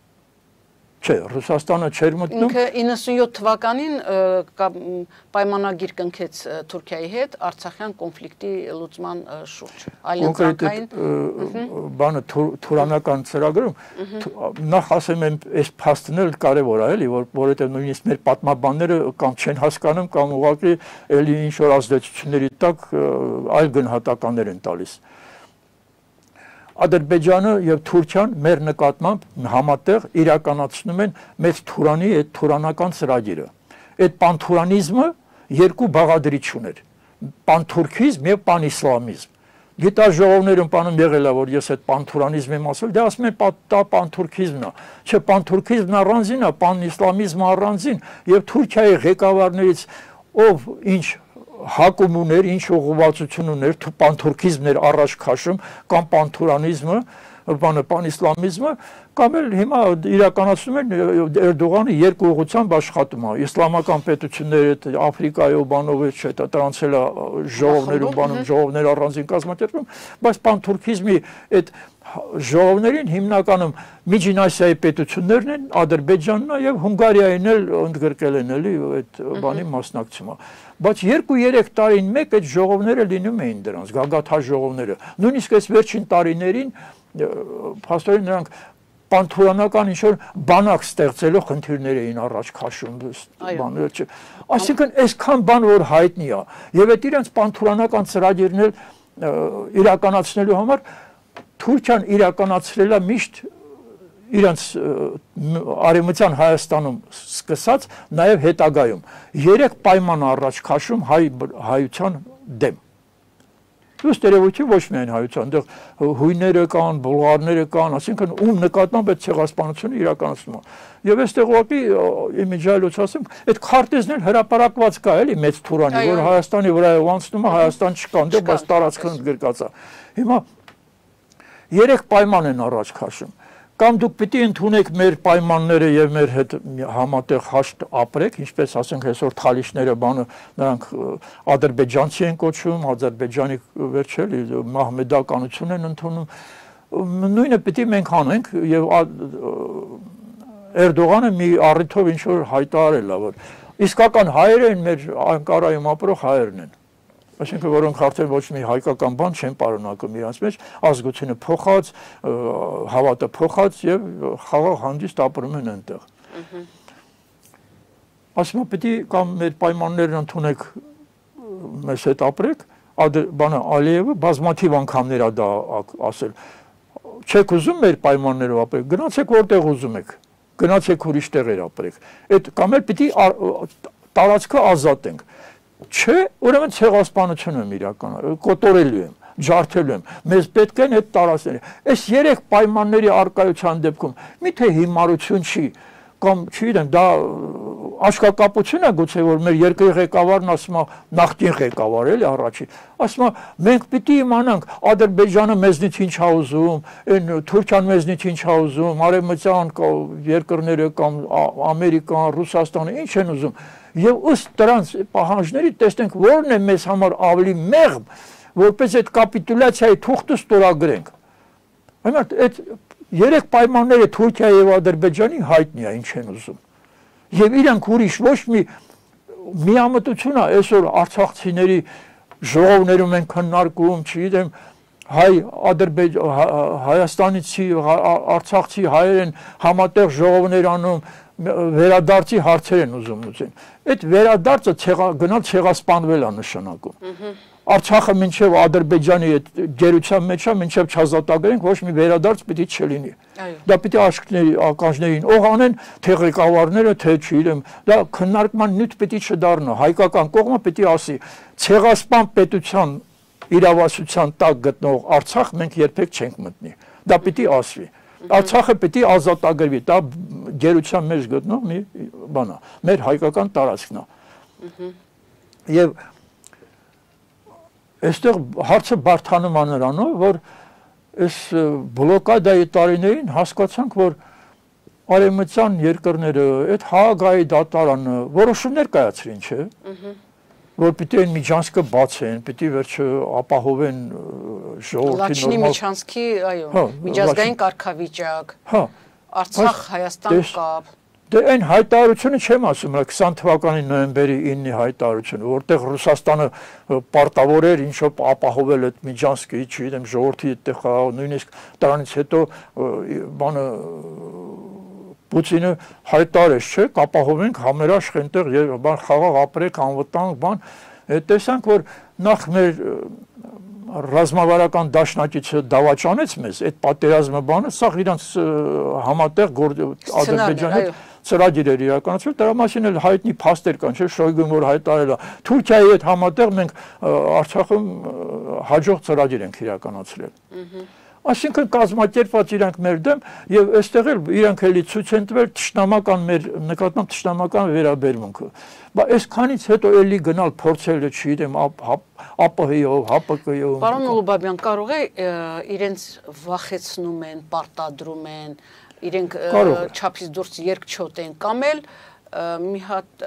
Չէ, Ռուսաստանը չէր մտնում։ Ինքը 97 թվականին պայմանագիր կնքեց Թուրքիայի հետ Արցախյան կոնֆլիկտի լուծման շուրջ։ Կոնկրետ բանը թուրանական ծրագրում նախ ասեմ եմ այս փաստն էլ կարևոր է, էլի, որովհետև նույնիսկ մեր պատմաբանները կամ չեն հասկանում կամ ուղղակի էլի ինչ որ ազդեցությունների տակ այլ գնահատականներ են տալիս։ Ադրբեջանը եւ Թուրքիան մեր նկատմամբ համատեղ իրականացնում են մեծ Թուրանի այդ թուրանական ծրագիրը։ Այդ պանթուրանիզմը երկու բաղադրիչ ուներ՝ պանթուրքիզմ եւ պանիսլամիզմ։ Գիտաժողովներում բանում եղել է, որ ես այդ պանթուրանիզմ եմ ասել, դե ասում են պանթուրքիզմն է։ Չէ, պանթուրքիզմն առանձին է, պանիսլամիզմը առանձին եւ Թուրքիայի ղեկավարներից ով ինչ հակում ուներ, ինչ ուղղվածություն ուներ, պանթուրքիզմն էր առաջ քաշում, կամ պանթուրանիզմը, պանիսլամիզմը, կամ էլ հիմա իրականացնում են Էրդողանը երկու ուղղությամբ աշխատում է։ Իսլամական պետությունները Աֆրիկայով բանով չէ, տրանցել է ժողովներում բանում, ժողովներ առանձին կազմակերպում, բայց պանթուրքիզմի այդ ժողովներին հիմնականում Միջին Ասիայի պետություններն են, Ադրբեջանն է եւ Հունգարիային էլ ընդգրկել են էլի այդ բանի մասնակցումը։ Բայց 2-3 տարին մեկ այդ ժողովները լինում էին դրանց, գագաթաժողովները։ Նույնիսկ այս վերջին տարիներին փաստորեն նրանք պանթուրանական ինչ-որ բանակ ստեղծելով խնդիրներ էին առաջ քաշում, բաները։ Այսինքն այսքան բան որ հայտնի է, եւ այդ իրենց պանթուրանական ծրագիրն էլ իրականացնելու համար Թուրքիան իրականացրել է միշտ իրենց Արևմտյան Հայաստանում սկսած նաև հետագայում 3 պայման առաջ քաշում հայության դեմ։ Ըստ երևույթին ոչ միայն հայության, այնտեղ հույները կան, բուլղարները կան, ասինքն ում նկատմամբ այդ ցեղասպանությունը իրականացնում է։ Եվ այստեղ ուղղակի իմիջիալոց ասեմ, այդ քարտեզն էլ հրապարակված կա, էլի մեծ Թուրանի, որ Հայաստանի վրայով անցնում է, Հայաստան չկա, այնտեղ բայց տարածքը ընդգրկած է։ Հիմա 3 պայման են առաջ քաշում։ Կամ դուք պիտի ընդունեք մեր պայմանները եւ մեր հետ համատեղ հաշտ ապրեք, ինչպես ասենք այսօր թալիշները բանը նրանք ադրբեջանցի են կոչվում, Ադրբեջանի վերջել մահմեդականություն են ընդունում։ Նույնը պիտի մենք անենք եւ Էրդողանը մի առիթով ինչ որ հայտարարել է, որ իսկական հայերը են մեր Անկարայում ապրող հայերն են։ Այսինքն որոնք արդեն ոչ մի հայկական բան չեն պարունակում իրancs մեջ, ազգությունը փոխած, հավատը փոխած եւ խաղաղ հանդիստ ապրում են այնտեղ։ Ասում եմ պիտի կամ մեր պայմաններն ընդունեք, մեզ հետ ապրեք, բանը Ալիևը բազմաթիվ անգամներ է դա ասել։ Չեք ուզում մեր պայմաններով ապրեք, գնացեք որտեղ ուզում եք, գնացեք ուրիշ տեղեր ապրեք։ Այդ կամ էլ պիտի տարածքը ազատենք։ Չէ, ուրեմն ցեղասպանություն եմ իրականացնում, կոտորելու եմ, ջարդելու եմ։ Մեզ պետք են այդ տարածքները։ Այս 3 պայմանների արկայության դեպքում միթե հիմարություն չի, կամ չգիտեմ, դա աշկակապություն է գուցե, որ մեր երկրի ղեկավարն ասում է նախկին ղեկավար էլի առաջին, ասում է մենք պիտի իմանանք Ադրբեջանը մեզնից ինչ է ուզում, այն Թուրքիան մեզնից ինչ է ուզում, արևմտյան երկրները կամ Ամերիկան, Ռուսաստանը ինչ են ուզում։ Եվ ըստ դրանց պահանջների տեսնենք որն է մեզ համար ավելի մեղմ, որպես այդ կապիտուլյացիայի թուղթը ստորագրենք։ Այնինքն այդ 3 պայմանները Թուրքիայի եւ Ադրբեջանի հայտնի է, ինչ են ուզում։ Եվ իրանք ուրիշ ոչ մի միամտություն է այսօր արցախցիների ժողովներում են քննարկում, չգիտեմ, Հայաստանցի, արցախցի հայեր են համատեղ ժողովներ անում, վերադարձի հարցեր են ուզում լուծեն։ Այդ վերադարձը գնալ ցեղասպանվել է նշանակում։ Արցախը մինչև Ադրբեջանի այդ գերության մեջ է, մինչև չազատագրենք, ոչ մի վերադարձ պիտի չլինի։ Դա պիտի ականջներին օղ անեն, թե ղեկավարները, թե չգիտեմ, դա քննարկման նյութ պիտի չդառնա։ Հայկական կողմը պիտի ասի, ցեղասպան պետության իրավասության տակ գտնող Արցախ մենք երբեք չենք մտնի։ Դա պիտի ասվի։ Արցախը պիտի ազատագրվի, դա գերության մեջ գտնող մի բան է, մեր հայկական տարածքն է։ Եվ այստեղ հարցը բարդանում է նրանով, որ այս բլոկադայի տարիներին հասկացանք, որ արևմտյան երկրները, այդ Հաագայի դատարանը որոշումներ կայացրին, չէ՞, որ պիտի այն միջանցքը բացեն, պիտի վերջը ապահովեն ժողովրդի Լաչինի միջանցքի, այո, միջազգային կարգավիճակ, Արցախ Հայաստան կապ։ Դե այն հայտարարությունը չեմ ասում, 20 թվականի նոյեմբերի 9-ի հայտարարությունը, որտեղ Ռուսաստանը պարտավոր էր ինչ-որ ապահովել այդ միջանցքը, չգիտեմ, ժողովրդի այդտեղ խաղաղ, նույնիսկ դրանից հետո բանը Պուտինը հայտարարեց, չէ, կապահովենք համերաշխ այնտեղ եւ խաղաղ ապրեք, անվտանգ բան, տեսանք, որ նախ մեր ռազմավարական դաշնակիցը դավաճանեց մեզ, այդ պատերազմը բանը, սա իրանց համատեղ Ադրբեջանի ծրագիր էր իրականացվել, դրա մասին էլ հայտնի փաստեր կան, չէ, Շոյգուն որ հայտարարել է, Թուրքիայի հետ համատեղ մենք Արցախում հաջող ծրագիր ենք իրականացրել։ Այսինքն կազմակերպված իրանք մեր դեմ եւ այստեղ էլ իրանք էլի ցույց են տվել ճշտամական մեր նկատմամբ ճշտամական վերաբերմունքը։ Բայց այսքանից հետո էլի գնալ փորձել չգիտեմ ԱՊՀ-ով, ՀԱՊԿ-ով։ Պարոն Ուլուբաբյան, կարող է իրենց վախեցնում են, պարտադրում են, իրենք չափից դուրս երկչոտ են կամ էլ մի հատ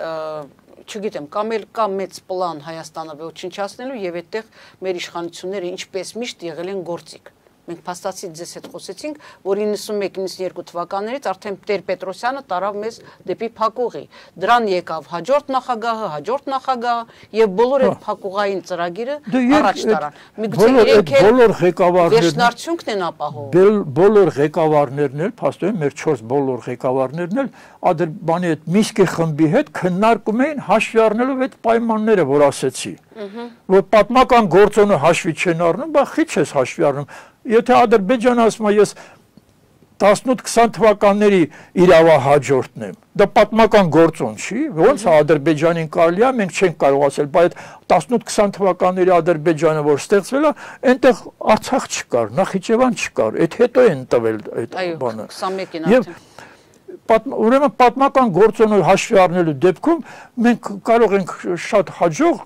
չգիտեմ, կամ էլ կա մեծ պլան Հայաստանը ոչնչացնելու եւ այդտեղ մեր իշխանությունները ինչպես միշտ եղել են գործիք։ Մենք փաստացի ձեզ հետ խոսեցինք, որ 91-92 թվականներից արդեն Տեր-Պետրոսյանը տարավ մեզ դեպի փակուղի։ Դրան եկավ հաջորդ նախագահը եւ բոլոր այդ փակուղային ծրագիրը առաջ տարան։ Միգուցե իրենք բոլոր ղեկավարներն վերջնարդյունքն են ապահովում։ Բոլոր ղեկավարներն էլ, փաստորեն մեր 4 բոլոր ղեկավարներն էլ Ադրբանի այդ Միսկի խմբի հետ քննարկում էին հաշվի առնելով այդ պայմանները, որ ասեցի։ Որ պատմական գործոնը հաշվի չեն առնում, բա խիչ ես հաշվի առնում։ Եթե Ադրբեջանը ասում է ես 18-20 թվականների իրավահաջորդն եմ, դա պատմական գործոն չի, ոնց է Ադրբեջանին կարելի է, մենք չենք կարող ասել, բայց 18-20 թվականների Ադրբեջանը որ ստեղծվել է, այնտեղ Արցախ չկար, Նախիջևան չկար, այդ հետո են տվել այդ բանը։ 21-ին արդեն։ Ուրեմն պատմական գործոնը հաշվի առնելու դեպքում մենք կարող ենք շատ հաջող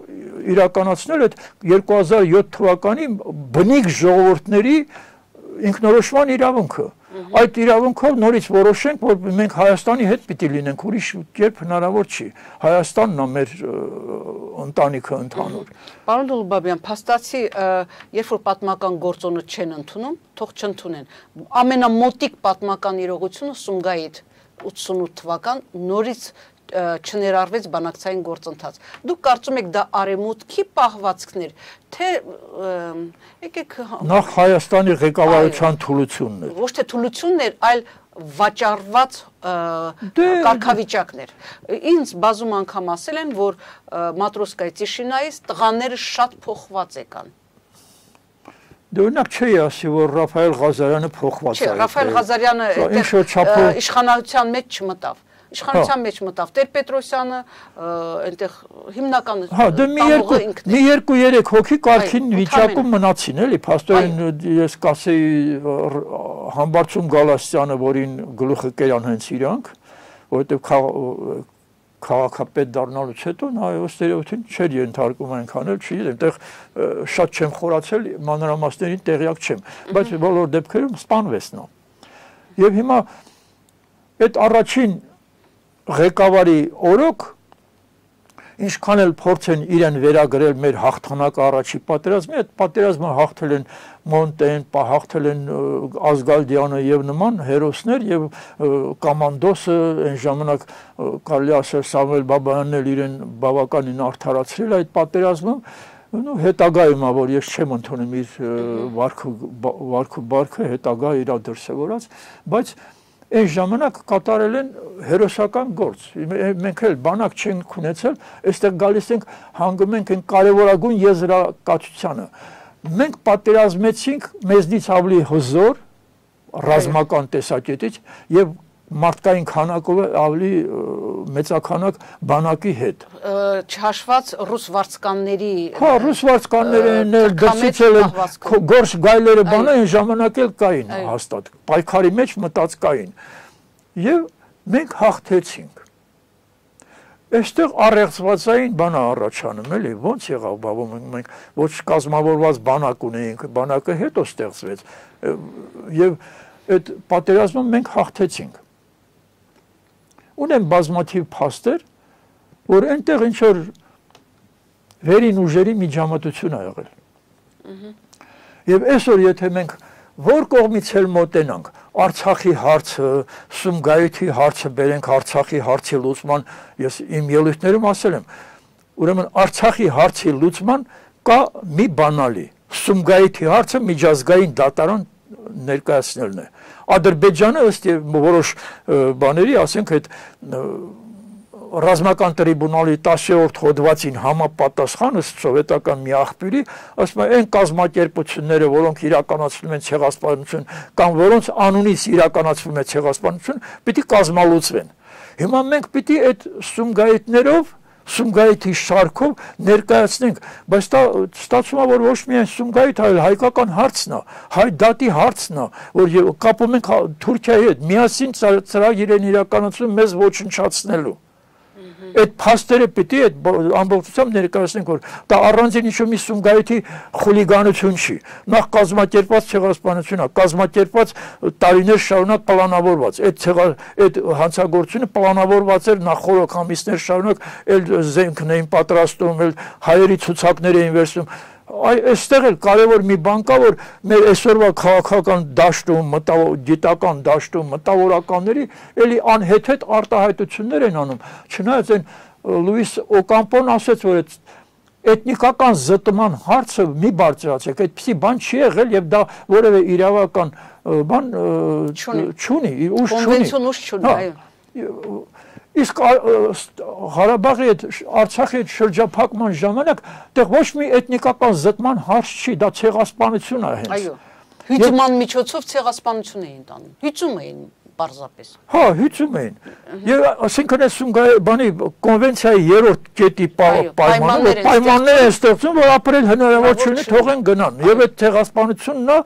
իրականացնել այդ 2007 թվականի բնիկ ժողովուրդների ինքնորոշման իրավունքը։ Այդ իրավունքով նորից որոշենք, որ մենք Հայաստանի հետ պիտի լինենք, ուրիշ կերպ հնարավոր չի։ Հայաստանն է մեր ընտանիքը ընդհանուր։ Պարոն Դոլուբաբյան, փաստացի, երբ որ պատմական գործոնը չեն ընդունում, թող չընդունեն։ Ամենամոտիկ պատմական իրողությունը Սումգայիթ 88 թվական նորից չներարվեց բանակցային գործընթաց։ Դուք կարծում եք դա արևմուտքի պահվածքներ, թե եկեք նախ Հայաստանի ղեկավարության թուլությունն էր։ Ոչ թե թուլությունն էր, այլ վաճառված կարգավիճակներ։ Ինձ բազում անգամ ասել են, որ Մատրոսկայի Տիշինայից տղաները շատ փոխված եկան։ Դե օրինակ չի ասի, որ Ռաֆայել Ղազարյանը փոխված է։ Չէ, Ռաֆայել Ղազարյանը իշխանության մեջ չմտավ։ Իշխանության մեջ մտավ Տեր-Պետրոսյանը, այնտեղ հիմնական դե մի 2-3 հոգի կարգին վիճակում մնացին, էլի, փաստորեն ես կասեի Համբարձում Գալաստյանը, որին գլուխը կերան հենց իրանք, որովհետև քաղաքապետ դառնալուց հետո նա ստերեոտիպին չէր ենթարկում այնքան էլ չի, այնտեղ շատ չեմ խորացել, մանրամասներին տեղյակ չեմ, բայց բոլոր դեպքերում սպանվեց նա։ Եվ հիմա այդ առաջին ղեկավարի օրոք ինչքան էլ փորձեն իրեն վերագրել մեր հաղթանակը առաջի պատերազմի, այդ պատերազմը հաղթել են Մոնտեն, հաղթել են Ազգալդյանը եւ նման հերոսներ եւ կոմանդոսը այն ժամանակ կարելի ասել Սամվել Բաբայանն էլ իրեն բավականին արդարացրել այդ պատերազմում հետագայում որ ես չեմ ընդունում իր վարքը բարքը հետագա իր դրսևորած, բայց այն ժամանակ կատարել են հերոսական գործ։ Մենք էլ բանակ չենք ունեցել, այստեղ գալիս ենք հանգում ենք այն կարևորագույն եզրակացությանը։ Մենք պատերազմեցինք մեզնից ավելի հզոր ռազմական տեսակետից եւ մարդկային քանակով ավելի մեծականակ բանակի հետ։ Չհաշված ռուս վարձկանների ռուս վարձկաններն էլ դրսից էլ գործ գայլերը բանը այն ժամանակ էլ կային հաստատ պայքարի մեջ մտած կային եւ մենք հաղթեցինք այստեղ առեղծվածային բան առաջանում էլի ոնց եղավ բավում մենք ոչ կազմավորված բանակ ունեինք բանակը հետո ստեղծվեց եւ այդ պատերազմում մենք հաղթեցինք ունեմ բազմաթիվ փաստեր, որ այնտեղ ինչ որ վերին ուժերի միջամտություն ա եղել։ Եվ այսօր եթե մենք որ կողմից էլ մոտենանք, Արցախի հարցը, Սումգայիթի հարցը բերենք Արցախի հարցի լուծման, ես իմ ելույթներում ասել եմ, ուրեմն Արցախի հարցի լուծման կա մի բանալի, Սումգայիթի հարցը միջազգային դատարան ներկայացնելն է։ Ադրբեջանը ըստ որոշ բաների, ասենք այդ ռազմական տրիբունալի 10-րդ հոդվածին համապատասխան ըստ սովետական մի աղբյուրի, ասում է այն կազմակերպությունները, որոնք իրականացնում են ցեղասպանություն կամ որոնց անունից իրականացվում է ցեղասպանություն, պիտի կազմալուծվեն։ Հիմա մենք պիտի այդ Սումգայիթներով Սումգայիթի շարքով ներկայացնենք, բայց դա ստացվում է, որ ոչ միայն Սումգայիթ, այլ հայկական հարցն է, հայ դատի հարցն է, որ կապում ենք Թուրքիայի հետ, միասին ծրագիր են իրականացնում մեզ ոչնչացնելու։ Այդ փաստերը պիտի այդ ամբողջությամբ ներկայացնենք, որ դա առանձին ինչ-որ մի Սումգայիթի խուլիգանություն չի։ Նախ կազմակերպված ցեղասպանություն է, կազմակերպված տարիներ շարունակ պլանավորված։ Այդ հանցագործությունը պլանավորված էր նախ խորհրդ ամիսներ շարունակ, էլ զենքն էին պատրաստում, էլ հայերի ցուցակներ էին վերցնում։ Այստեղ էլ կարևոր մի բան կա, որ մեր այսօրվա քաղաքական դաշտում, գիտական դաշտում մտավորականների էլի անհեթեթ արտահայտություններ են անում։ Չնայած այն Լուիս Օկամպոն ասեց, որ էթնիկական զտման հարցը մի բարձրացեք, այդպիսի բան չի եղել եւ դա որևէ իրավական բան չունի, ուժ չունի։ Կոնվենցիոն ուժ չունի, այո։ Իսկ Ղարաբաղի այդ Արցախի այդ շրջափակման ժամանակ դեռ ոչ մի էթնիկական զտման հարց չի, դա ցեղասպանություն է հենց։ Այո։ Հյուսման միջոցով ցեղասպանություն էին տանում։ Հյուսում էին պարզապես։ Հա, հյուսում էին։ Եվ ասենքն բանի կոնվենցիայի 3-րդ կետի պայմանները են ստեղծում, որ ապրել հնարավոր չունի, թողեն գնան։ Եվ այդ ցեղասպանությունն է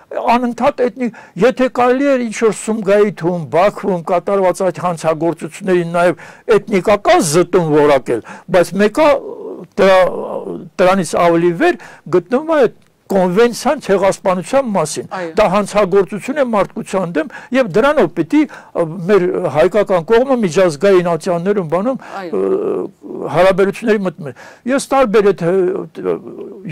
անընդհատ եթե կարելի էր ինչ-որ Սումգայիթում, Բաքվում կատարված այդ հանցագործություններին նաև էթնիկական զտում որակել, բայց մեկը դրանից ավելի վեր գտնվում է կոնվենցիան ցեղասպանության մասին։ Դա հանցագործություն է մարդկության դեմ եւ դրանով պիտի մեր հայկական կողմը միջազգային ատյաններում բանում հարաբերությունների մտնում։ Ես տարբեր այդ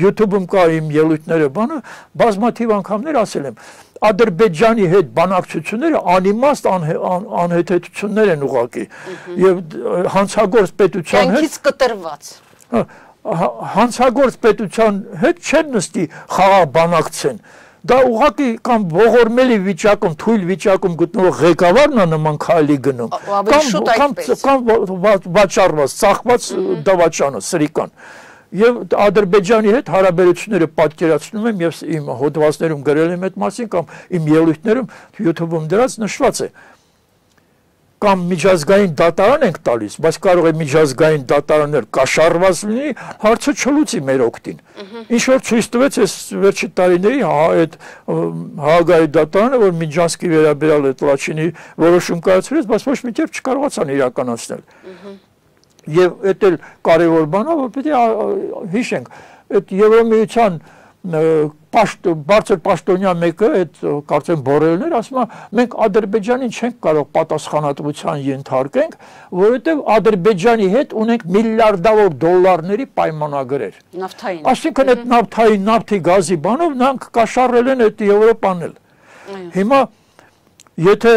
YouTube-ում կա իմ ելույթները բանը բազմաթիվ անգամներ ասել եմ Ադրբեջանի հետ բանակցությունները անիմաստ անհեթեթություններ են ուղղակի եւ հանցագործ պետության հետ կյանքից կտրված հանցագործ պետության հետ չեն նստի խաղաղ բանակցեն դա ուղղակի կամ ողորմելի վիճակում թույլ վիճակում գտնվող ղեկավարն է նման քայլի գնում կամ վաճառված ծախված դավաճանը սրիկան Եվ Ադրբեջանի հետ հարաբերությունները պատկերացնում եմ եւ իմ հոդվածներում գրել եմ այդ մասին կամ իմ ելույթներում YouTube-ում դրած նշված է կամ միջազգային դատարան ենք տալիս, բայց կարող է միջազգային դատարաններ կաշառված լինի, հարցը չլուծի մեր օգտին։ Ինչ որ ցույց տվեց այս վերջի տարիների այդ Հաագայի դատարանը, որ Միջանսկի վերաբերյալ այդ Լաչինի որոշում կայացրեց, բայց ոչ մի կերպ չկարողացան իրականացնել։ Եվ այդ էլ կարևոր բան է, որ պետք է հիշենք, այդ Եվրամիության բարձր պաշտոնյա մեկը, այդ կարծեմ Բորելներ, ասում է, մենք Ադրբեջանին չենք կարող պատասխանատվության ենթարկենք, որովհետև Ադրբեջանի հետ ունենք միլիարդավոր դոլարների պայմանագրեր։ Նավթային։ Այսինքն այդ նավթային, նավթի գազի բանով նրանք կաշառել են այդ Եվրոպան էլ։ Հիմա եթե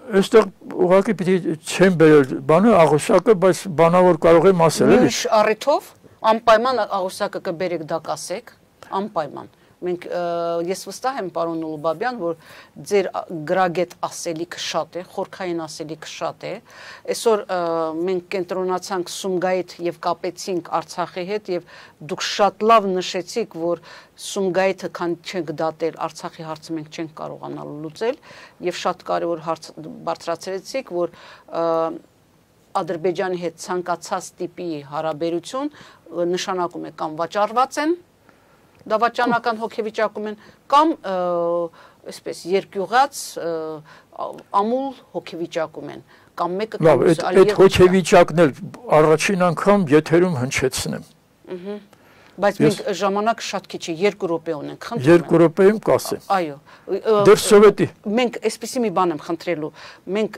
Այստեղ ուղղակի պիտի չեմ բերել բանը աղյուսակը, բայց բանավոր կարող եմ ասել էլի։ Միշտ առիթով անպայման աղյուսակը կբերեք դա կասեք, անպայման։ Մենք ես վստահ եմ պարոն Ուլուբաբյան, որ ձեր գրագետ ասելիքը շատ է, խորքային ասելիքը շատ է։ Այսօր մենք կենտրոնացանք Սումգայիթ եւ կապեցինք Արցախի հետ եւ դուք շատ լավ նշեցիք, որ Սումգայիթը քան չենք դատել, Արցախի հարցը մենք չենք կարողանալ լուծել եւ շատ կարեւոր հարց բարձրացրեցիք, որ Ադրբեջանի հետ ցանկացած տիպի հարաբերություն նշանակում է կամ վաճառված են դավաճանական հոգեվիճակում են կամ այսպես երկյուղած ամուլ հոգեվիճակում են կամ մեկը կամ այդ հոգեվիճակն էլ առաջին անգամ եթերում հնչեցնեմ Բայց մենք ժամանակ շատ քիչ է 2 րոպե ունենք, խնդրում եմ 2 րոպեում կասեմ Այո Դեռ սովետի Մենք այսպեսի մի բան եմ խնդրելու մենք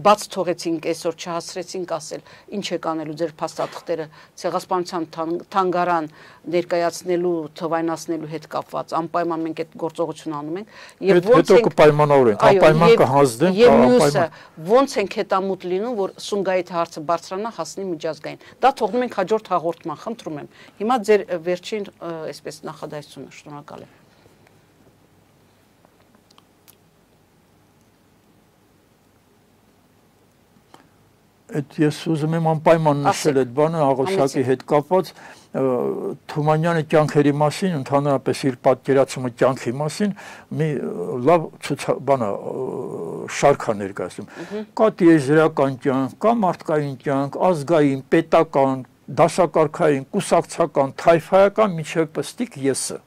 բաց թողեցինք այսօր չհասցրեցինք ասել ինչ է կանելու ձեր փաստաթղթերը ցեղասպանության թանգարան ներկայացնելու թվայնացնելու հետ կապված անպայման մենք այդ գործողություն անում ենք եւ հետո կպայմանավորենք անպայման կհանձնենք անպայման ոնց ենք հետամուտ լինում որ Սումգայիթ հարցը բարձրանա հասնի միջազգային դա թողնում ենք հաջորդ հաղորդման խնդրում եմ հիմա ձեր վերջին այսպես նախադասությունը շնորհակալ եմ Այդ ես ուզում եմ անպայման նշել այդ բանը աղյուսակի հետ կապված Թումանյանի կյանքերի մասին ընդհանրապես իր պատկերացումը կյանքի մասին մի լավ բանը շարք է ներկայացնում կա տիեզերական կյանք, կա մարդկային կյանք, ազգային, պետական, դասակարգային, կուսակցական, թայֆայական միջև պստիկ եսը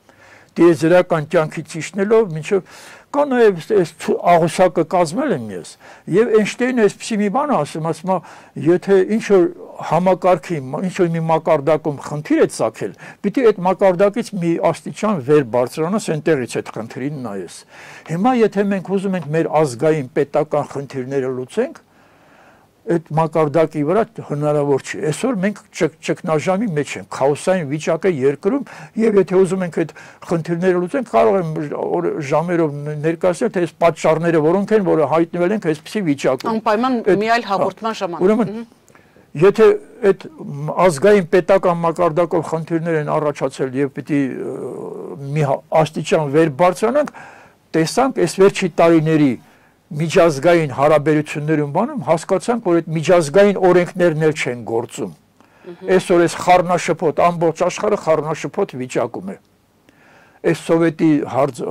տիեզերական կյանքի ճիշտնելով միջև կա նաև այս աղյուսակը կազմել եմ ես եւ Էյնշտեյնը այսպեսի մի բան ասում եթե ինչ որ համակարգի ինչ որ մի մակարդակում խնդիր է ցակել պիտի այդ մակարդակից մի աստիճան վեր բարձրանաս այնտեղից այդ խնդրին նայես հիմա եթե մենք ուզում ենք մեր ազգային պետական խնդիրները լուծենք այդ մակարդակի վրա հնարավոր չի այսօր մենք ճգնաժամի մեջ ենք քաոսային վիճակ է երկրում եւ եթե ուզում ենք այդ խնդիրները լուծենք կարող եմ ժամերով ներկայացնել թե այս պատճառները որոնք են որը հայտնվել ենք այսպիսի վիճակում անպայման մի այլ հաղորդման ժամանակ ուրեմն եթե այդ ազգային պետական մակարդակով խնդիրներ են առաջացել եւ պիտի մի աստիճան վեր բարձրանանք տեսանք այս վերջի տարիների միջազգային հարաբերություններում բանում հասկացանք, որ այդ միջազգային օրենքներն էլ չեն գործում։ Այսօր այս խառնաշփոթ ամբողջ աշխարհը խառնաշփոթ վիճակում է։ Այս սովետի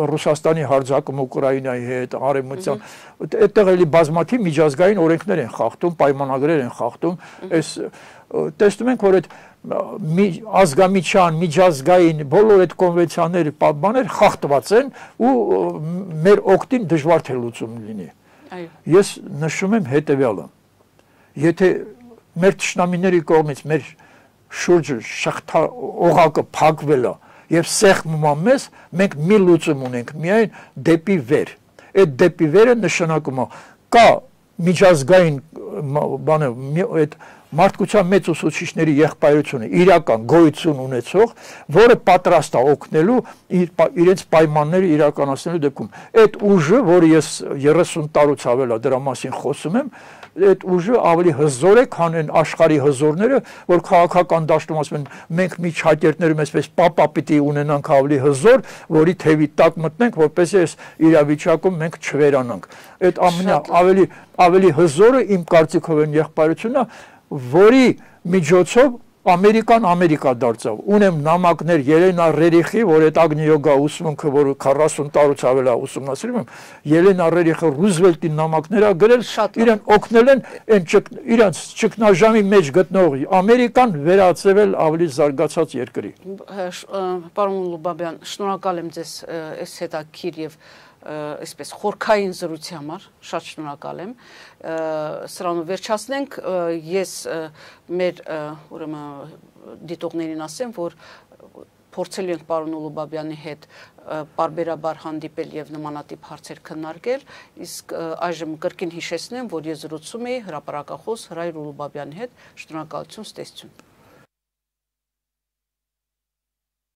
Ռուսաստանի հարձակումը Ուկրաինայի հետ, արևմտյան, այդտեղ էլի բազմաթիվ միջազգային օրենքներ են խախտում, պայմանագրեր են խախտում։ Այս տեսնում ենք, որ այդ ազգամիջյան, միջազգային բոլոր այդ կոնվենցիաները, բաներ խախտված են ու մեր օգտին դժվար թե լուծում լինի։ Ես նշում եմ հետևյալը. Եթե մեր ճշնամիների կողմից մեր շուրջը շղթա օղակը փակվել է եւ սեղմում է մեզ, մենք մի լուծում ունենք, միայն դեպի վեր։ Այդ դեպի վերը նշանակում է կա միջազգային բանը այդ մարդկության մեծ ուսուցիչների եղբայրությունը իրական գոյություն ունեցող, որը պատրաստ է օգնելու իրենց պայմանները իրականացնելու դեպքում։ Այդ ուժը, որը ես 30 տարուց ավել է դրա մասին խոսում եմ, այդ ուժը ավելի հզոր է, քան այն աշխարհի հզորները, որ քաղաքական դաշտում ասում են, մենք մի չակերտներում այսպես պապա պիտի ունենանք ավելի հզոր, որի թևի տակ մտնենք, որպեսզի այս իրավիճակում մենք չվերանանք։ Այդ ավելի հզորը իմ կարծիքով այն եղբայրությունն է, որի միջոցով Ամերիկա դարձավ։ Ունեմ նամակներ Ելենա Ռերիխի, որ այդ Ագնիոգա ուսմունքը, որ 40 տարուց ավել է ուսումնասիրում եմ, Ելենա Ռերիխը Ռուզվելտի նամակներ ա գրել, իրեն օգնել են իրանց ճգնաժամի մեջ գտնող Ամերիկան վերածվել ավելի զարգացած երկրի։ Պարոն Ուլուբաբյան, շնորհակալ եմ ձեզ այս հետաքրքիր եւ այսպես խորքային զրույցի համար, շատ շնորհակալ եմ։ Սրանով վերջացնենք, ես մեր ուրեմն դիտողներին ասեմ, որ փորձելու ենք պարոն Ուլուբաբյանի հետ պարբերաբար հանդիպել եւ նմանատիպ հարցեր քննարկել, իսկ այժմ կրկին հիշեցնեմ, որ ես զրուցում էի հրապարակախոս Հրայր Ուլուբաբյանի հետ, շնորհակալություն, ստեսություն։